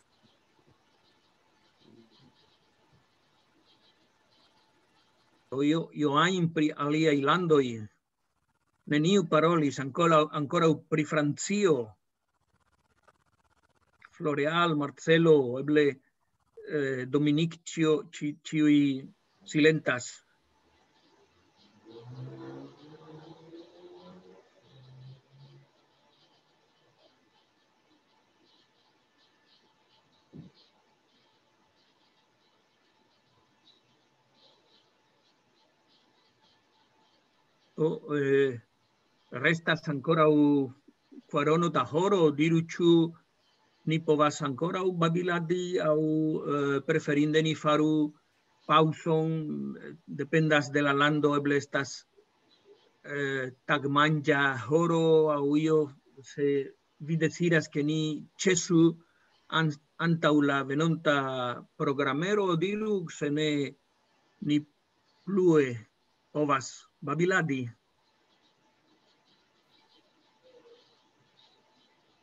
Io, io ajn pri aliaj landoj. Neniu parolis ankoraŭ, ankoraŭ pri Francio. Floreal, Marcelo, eble, eh, Dominik, ĉio-, ĉi-, ĉiuj silentas. Do, eh, restas ankoraŭ kvarono da horo, diru, ĉu ni povas ankoraŭ babiladi aŭ, eh, preferinde ni faru paŭzon, eh, dependas de la lando, eble estas, eh, tagmanĝa horo aŭ io, se vi deziras, ke ni ĉesu an-, antaŭ la venonta programero, diru, se ne ni plue povas babiladi.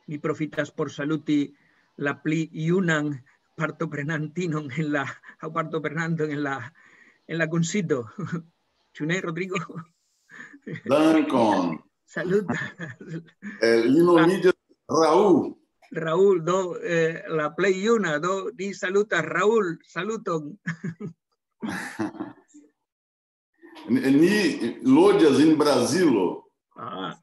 Mi profitas por saluti la pli junan partoprenantinon en la, aŭ partoprenanton en la, en la kunsido. Ĉu ne, Rodrigo? Dankon. Saluta. Eh, li nomiĝas Raul. Raul, do, eh, la plej juna, do, ni salutas Raul, saluton. Ni, ni loĝas en Brazilo. Ah,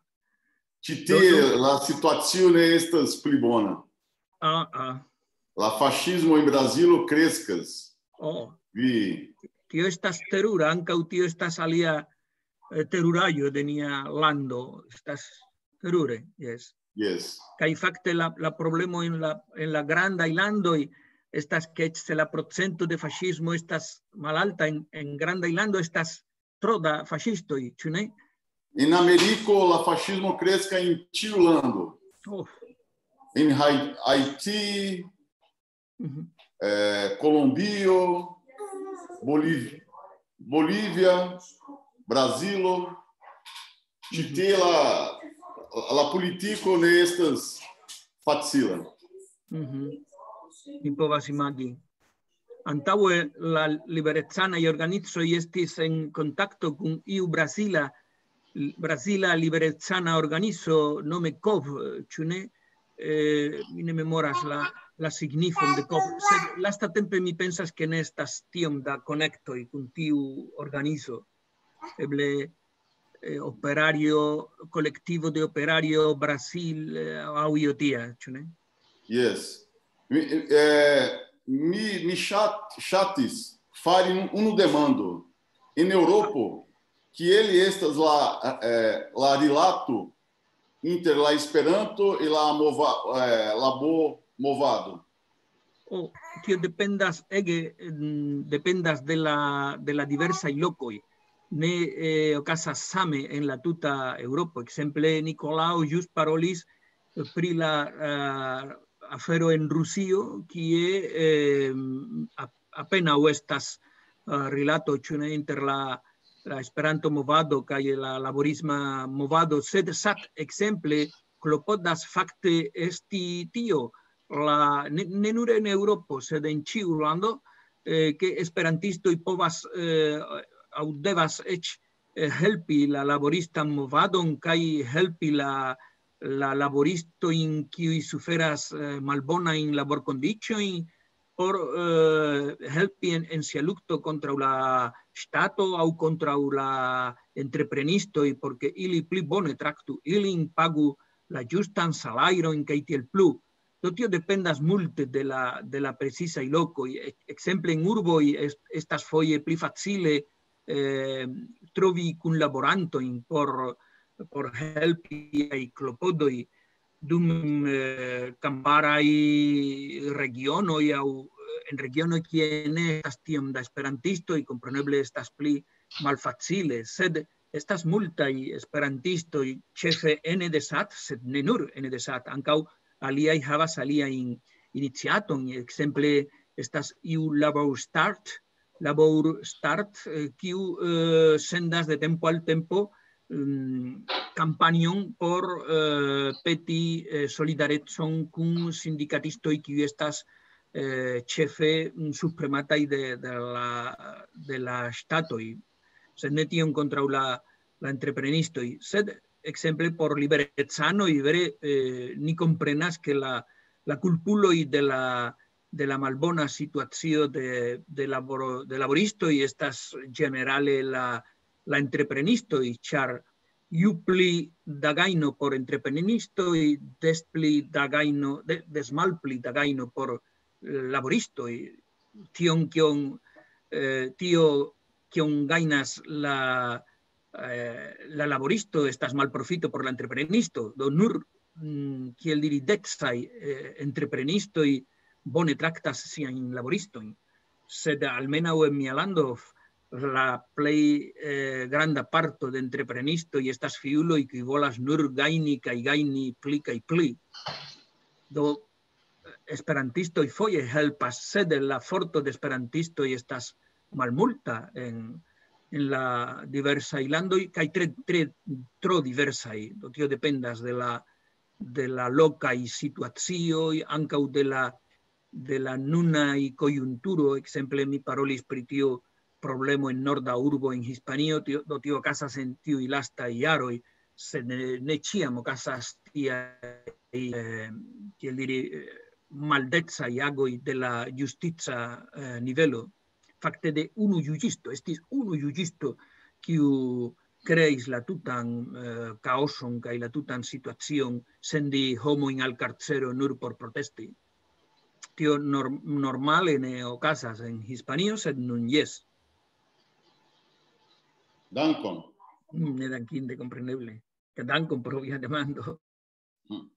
Ĉi tie la situacio ne estas pli bona. Ah, ah. La faŝismo en Brazilo kreskas. Oh, Vi, tio estas terura, ankaŭ tio estas alia, eh, teruraĵo de nia lando. Estas terure, jes. Jes. Kaj fakte la, la problemo en la, en la grandaj landoj estas, ke eĉ se la procento de faŝismo estas malalta en, en grandaj lando, estas tro da faŝistoj, ĉu ne? En Ameriko la faŝismo kreskas en ĉiu lando. Oh. En Hai-, Haiti, Mhm. eh, Kolombio, Boliv-, Bolivia, Brazilo. Ĉi tie la, la politiko ne estas facila. Mhm. Mi povas imagi. Antaŭe la liberecanaj organizoj estis en kontakto kun iu brazila, brazila liberecana organizo nome kov, ĉu ne? Eh, mi ne memoras la, la signifon de kov, sed lastatempe mi pensas, ke ne estas tiom da konektoj kun tiu organizo. Eble, eh, operario, kolektivo de operario Brasil, eh, aŭ io tia, ĉu ne? Jes. Mi, eh, mi, mi ŝat-, ŝatis fari un-, unu demando. En Eŭropo, kiel estas la, eh, la rilato inter la Esperanto e la mova-, eh, labo-movado? Oh, tio dependas ege, mm, dependas de la, de la diversaj lokoj. Ne, eh, okazas same en la tuta Eŭropo. Ekzemple, Nikolao ĵus parolis pri la, eh, afero en Rusio, kie, eh, ap-, apenaŭ estas, eh, rilato, ĉu ne, inter la, la Esperanto-movado kaj la laborisma movado, sed SAT ekzemple klopodas fakte esti tio, la, ne, ne nur en Eŭropo, sed en ĉiu lando, eh, ke esperantistoj povas, eh, aŭ devas eĉ, eh, helpi la laboristan movadon kaj helpi la, la laboristojn, kiuj suferas, eh, malbonajn laborkondiĉojn, por, eh, helpi en, en sia lukto kontraŭ la ŝtato aŭ kontraŭ la entreprenistoj, por ke ili pli bone traktu ilin, pagu la ĝustan salajron kaj tiel plu. Do tio dependas multe de la, de la precisaj lokoj. E-, ekzemple en urboj est-, estas foje pli facile, eh, trovi kunlaborantojn por, por helpi tiaj klopodoj, dum, eh, kamparaj regionoj aŭ, eh, en regionoj, kie ne estas tiom da esperantistoj, kompreneble estas pli malfacile, sed estas multaj esperantistoj, ĉefe ene de sat, sed ne nur ene de sat, ankaŭ aliaj havas aliajn iniciaton, ekzemple estas iu Labor Start, Labor Start, eh, kiu, eh, sendas de tempo al tempo, mm, kampanjon por, eh, peti, eh, solidarecon kun sindikatistoj, kiuj estas, eh, ĉefe, mm, subpremataj de, de la, de la ŝtatoj. Sed ne tion kontraŭ la, la entreprenistoj, sed ekzemple por liberecanoj, vere, eh, ni komprenas, ke la, la kulpuloj de la, de la malbona situacio de, de laboro-, de laboristoj estas ĝenerale la, la entreprenistoj, ĉar ju pli da gajno por entreprenistoj, des pli da gajno, de-, des malpli da gajno por, eh, laboristoj. Tion, kion, eh, tio, kion gajnas la, eh, la laboristo, estas malprofito por la entreprenisto. Do nur, mm, kiel diri, decaj, eh, entreprenistoj bone traktas siajn laboristojn. Sed almenaŭ en mia lando, f-, la plej, eh, granda parto de entreprenistoj estas fiuloj, kiuj volas nur gajni kaj gajni pli kaj pli. Do esperantistoj foje helpas, sed la forto de esperantistoj estas malmulta en, en la diversaj landoj, kaj tre, tre, tro diversaj. Do tio dependas de la, de la lokaj situacioj, ankaŭ de la, de la nunaj konjunturo. Ekzemple, mi parolis pri tio problemo en norda urbo en Hispanio, tio, do tio okazas en tiuj lastaj jaroj, sed ne, ne ĉiam okazas tiaj, eh, kiel diri, eh, maldecaj agoj de la justica, eh, nivelo. Fakte de unu juĝisto, estis unu juĝisto, kiu kreis la tutan, eh, kaoson kaj la tutan situacion, sendi homojn al karcero nur por protesti. Tio nor-, normale ne okazas en Hispanio, sed nun jes. Dankon. Mm, ne dankinde, kompreneble. Dankon pro via demando. Hmm.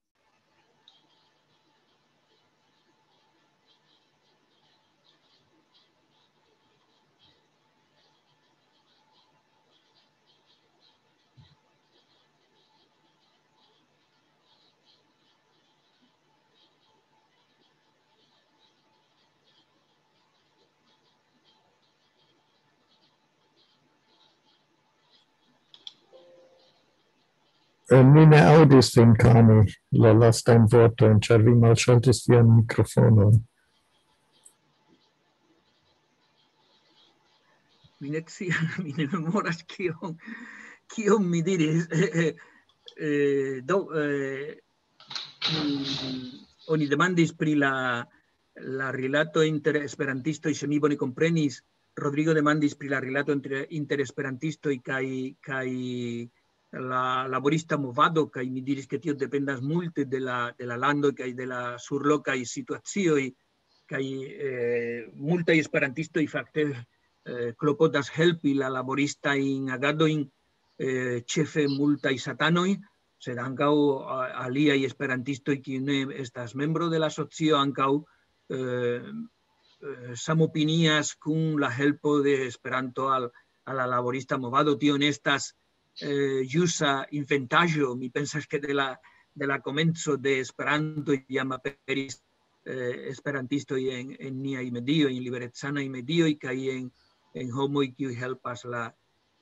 Eh, mi ne aŭdis vin, Kami, la lastajn vortojn, ĉar vi malŝaltis vian mikrofonon. Mi ne scias, mi ne memoras kion, kion mi diris. Eh, eh, eh, do, eh, mm, oni demandis pri la, la rilato inter esperantistoj, se mi bone komprenis, Rodrigo demandis pri la rilato inter, inter esperantistoj kaj, kaj la laborista movado, kaj mi diris, ke tio dependas multe de la, de la lando kaj de la surlokaj situacioj, kaj, eh, multaj esperantistoj fakte, eh, klopodas helpi la laboristajn agadojn, eh, ĉefe multaj satanoj, sed ankaŭ a-, aliaj esperantistoj, kiuj ne estas membro de la asocio, ankaŭ, eh, eh, samopinias kun la helpo de Esperanto al, al la laborista movado. Tio ne estas, eh, ĵusa inventaĵo. Mi pensas, ke de la, de la komenco de Esperanto jam aperis, eh, esperantistoj en, en niaj medioj, en liberecanaj medioj, kaj en, en homoj, kiuj helpas la,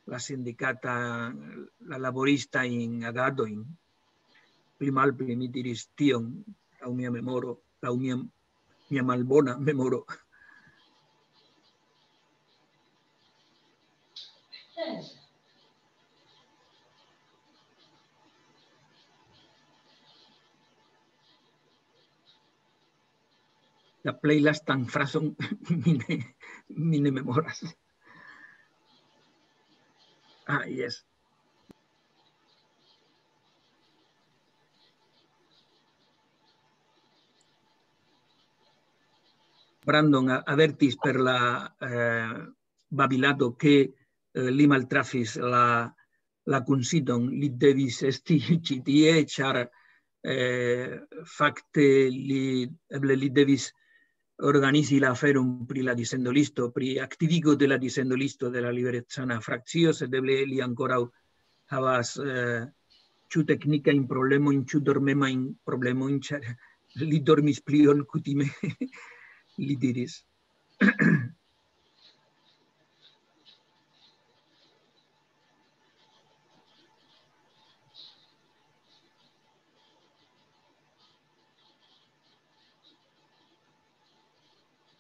la sindikata, la laboristajn agadojn. Pli malpli mi diris tion, laŭ mia memoro, laŭ mia, mia malbona memoro. La plej lastan frazon mi ne, mi ne memoras. Ah, jes. Brandon a-, avertis per la, eh, babilado, ke, eh, li maltrafis la, la kunsidon, li devis esti ĉi tie, ĉar, eh, fakte li, eble li devis organizi la aferon pri la dissendolisto, pri aktivigo de la dissendolisto de la liberecana frakcio, sed eble li ankoraŭ havas, eh, ĉu teknikajn problemojn, ĉu dormemajn problemojn, ĉar li dormis pli ol kutime, li diris.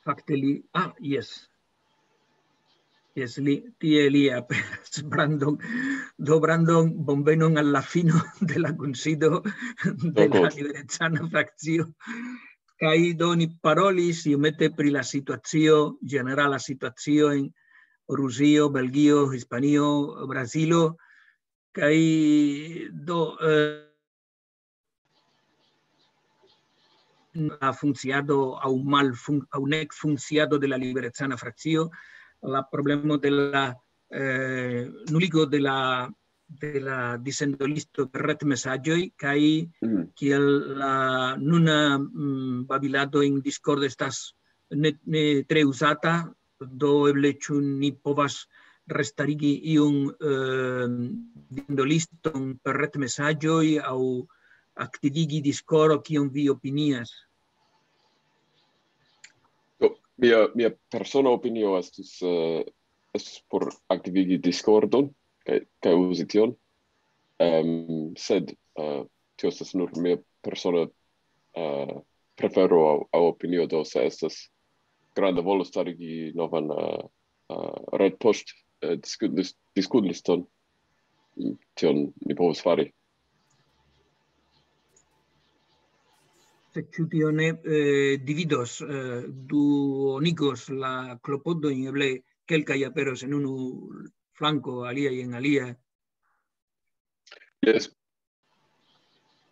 Fakte li, ah, jes. Jes, li, tie li aperas. Brandon, do Brandon, bonvenon al la fino de la kunsido de la Dankon. Liberecana frakcio. Kaj do ni parolis iomete pri la situacio, ĝenerala situacio en Rusio, Belgio, Hispanio, Brazilo, kaj do, eh, la funkciado aŭ malfun-, aŭ nek funkciado de la liberecana frakcio, la problemo de la, eh, nuligo de la, de la dissendolisto per retmesaĝoj, kaj Mhm. kiel la nuna, mm, babilado en Discord estas ne, ne tre uzata, do eble ĉu ni povas restarigi iun, eh, dissendolisto per retmesaĝoj aŭ aktivigi Discord, kion vi opinias? Do, mia, mia persona opinio estus, eh, estus por aktivigi Discordon kaj, kaj uzi tion. Em, sed, eh, tio estas nur mia persona, eh, prefero aŭ, aŭ opinio, do se estas granda volo starigi novan, eh, eh, retpost, eh, diskutlis-, diskutliston, tion ni povas fari. Sed ĉu tio ne, eh, dividos, eh, duonigos la klopodojn, eble kelkaj aperos en unu flanko, aliaj en alia? Jes.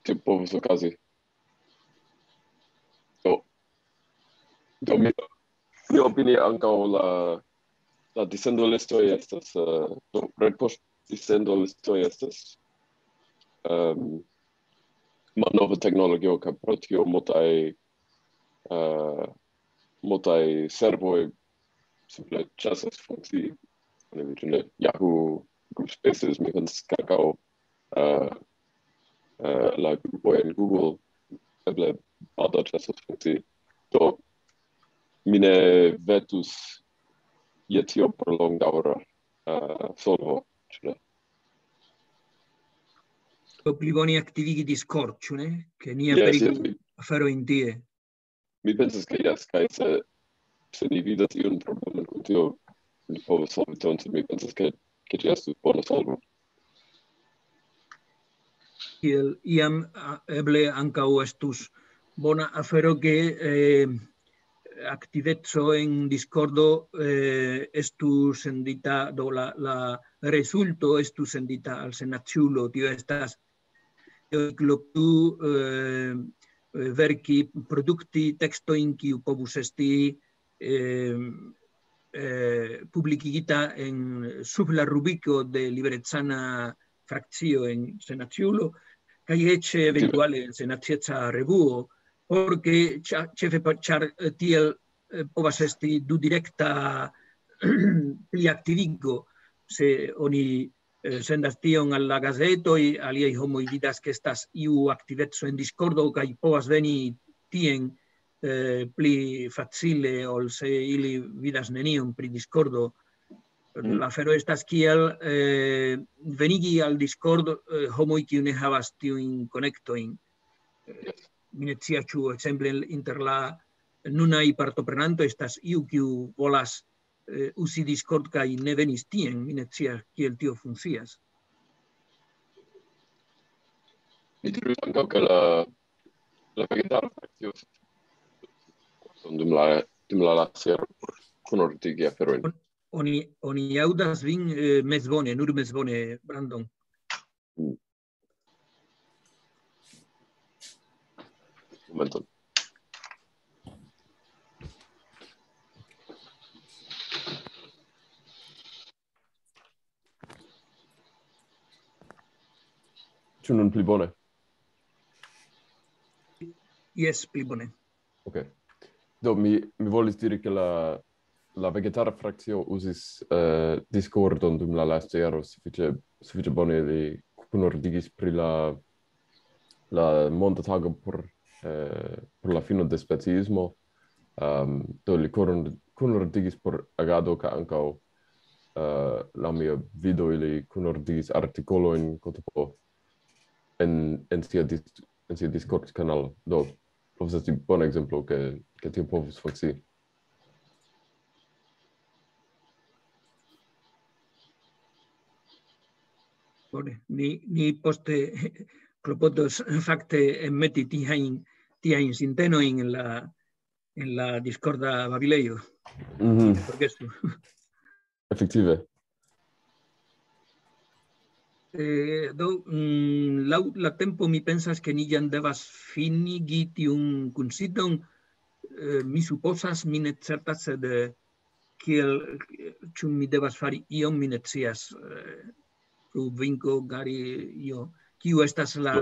Tio povas okazi. Do, do mi, mi opini ankaŭ la, la dissendolistoj estas, eh, do, retpost dissendolistoj estas, em, malnova teknologio, kaj pro tio multaj, eh, multaj servoj simple ĉesas funkcii. Oni vidu ne Yahoo, Google Spaces, mi pensas, ke ankaŭ, eh, eh, la grupoj en Google eble baldaŭ ĉesos funkcii. Do, mi ne vetus je tio por longdaŭra, eh, solvo, ĉu ne? Do pli bone aktivigi Discord, ĉu ne? Ke ni Jes, aperigu jes, mi aferojn tie. Mi pensas, ke jes, kaj se, se ni vidas iun problemon kun tio, ni povas solvi tion, sed mi pensas, ke, ke ĝi estus bona solvo. Kiel iam, a, eble ankaŭ estus bona afero, ke, eh, aktiveco en Discordo, eh, estu sendita, do la, la rezulto estu sendita al senaciulo. Tio estas, eh, eh, verki, produkti tekstojn, kiu povus esti, eh, eh, publikigita en, sub la rubriko de liberecana frakcio en senaciulo, kaj eĉ eventuale en senacieca revuo, porque ĉa-, ĉefe pa-, ĉar, eh, tiel, eh, povas esti du direkta pli aktivigo, se oni, eh, sendas tion al la gazetoj, aliaj homoj vidas, ke estas iu aktiveco en Discordo, kaj povas veni tien, eh, pli facile, ol se ili vidas nenion pri Discordo. Mm. La afero estas kiel, eh, venigi al Discord, eh, homoj, kiu ne havas tiujn konektojn. Eh, mi ne scias, ĉu ekzemple inter la nunaj partoprenantoj estas iu, kiu volas, eh, uzi Discord kaj ne venis tien. Mi ne scias, kiel tio funkcias. Mi diris ankaŭ, ke la, la vegetara frakcio dum la, dum la lasta jaro por kunortigi aferojn. On-, oni, oni aŭdas vin, eh, mezbone, nur mezbone, Brandon. Mm. Momenton. Ĉu nun pli bone? Jes, pli bone. Ok. Do, mi, mi volis diri, ke la, la vegetara frakcio uzis eh, Discordon dum la lasta jaro sufiĉe, sufiĉe bone. Ili kunordigis pri la, la monda tago por, eh, por la fino de speciismo. Um, do, li kunor-, kunordigis por agado, kaj ankaŭ eh, laŭ mia vido, ili kunordigis artikolojn, kotopo, en, en sia dis-, en sia Discord-kanalo. Do, povas esti bona ekzemplo, ke, ke tio povus funkcii. Bone, ni, ni poste klopodos fakte enmeti tiajn, tiajn sintenojn en la, en la Discorda babilejo. Mhm. Forgesu. Efektive. Eh, do, mm, laŭ la tempo mi pensas, ke ni jam devas finigi tiun kunsiton. Eh, mi supozas, mi ne certas, sed eh, kiel, ĉu mi devas fari ion, mi ne scias. Eh, ĉu Vinko, Gari, io, kiu estas la,